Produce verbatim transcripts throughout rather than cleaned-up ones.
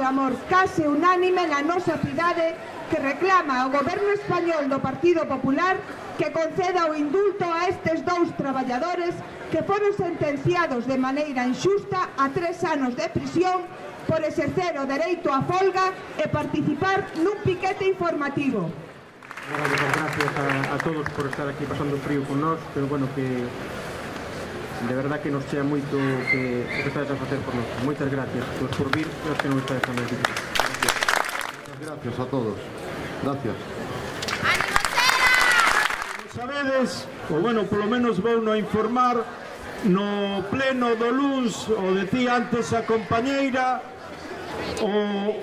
clamor case unánime na nosa cidade que reclama ao goberno español do Partido Popular que conceda o indulto a estes dous traballadores que foron sentenciados de maneira injusta a tres anos de prisión por exercer o dereito a folga e participar nun piquete informativo. Gracias a, a todos por estar aquí pasando frío con nós, pero bueno, que de verdad que nos chea moito que o que estades a facer por nós. Moitas gracias por, por vir e os que non estades tamén. Gracias. Gracias a todos. Gracias. Sabedes, ou bueno, polo menos vou no informar, no pleno do luns, o decía antes a compañeira, o,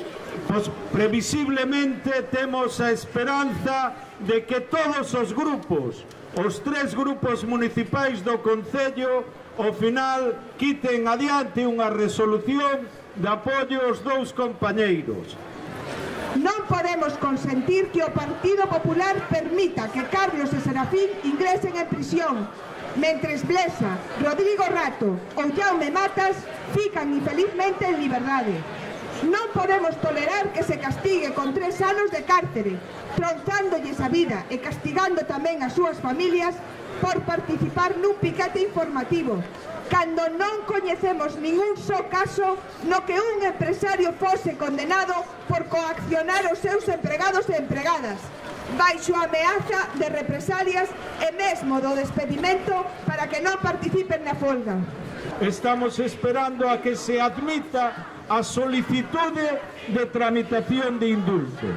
pues, previsiblemente temos a esperanza de que todos os grupos, os tres grupos municipais do Concello, ao final quiten adiante unha resolución de apoio aos dous compañeiros. Non podemos consentir que o Partido Popular permita que Carlos e Serafín ingresen en prisión, mentres Blesa, Rodrigo Rato ou Jaume Matas fican infelizmente en liberdade. Non podemos tolerar que se castigue con tres anos de cárcere, tronzándolle a vida e castigando tamén as súas familias por participar nun piquete informativo, cando non coñecemos ningún só caso no que un empresario fose condenado por coaccionar os seus empregados e empregadas, baixo a ameaza de represalias e mesmo do despedimento para que non participen na folga. Estamos esperando a que se admita a solicitude de tramitación de indulto.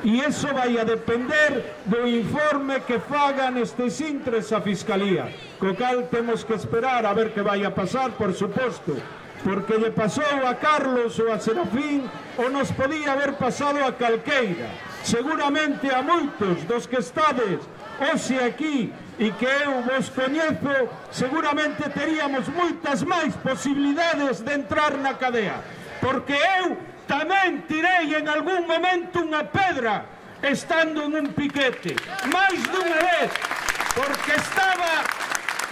E iso vai a depender do informe que fagan estes intres a Fiscalía, co cal temos que esperar a ver que vai a pasar, por suposto, porque lle pasou a Carlos ou a Serafín ou nos podía haber pasado a calqueira. Seguramente a moitos dos que estades hoxe aquí e que eu vos coñezo, seguramente teríamos moitas máis posibilidades de entrar na cadea, porque eu tamén tirei en algún momento unha pedra estando en un piquete, máis dunha vez, porque estaba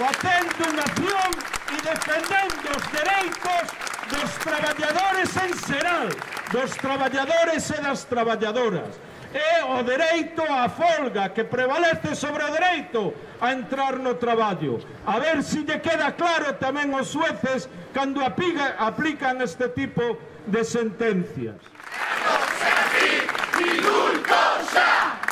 facendo unha acción e defendendo os dereitos dos traballadores en xeral, dos traballadores e das traballadoras, e o dereito á folga que prevalece sobre o dereito a entrar no traballo. A ver se lle queda claro tamén aos xueces cando aplican este tipo de sentencias. ¡Indulto ya!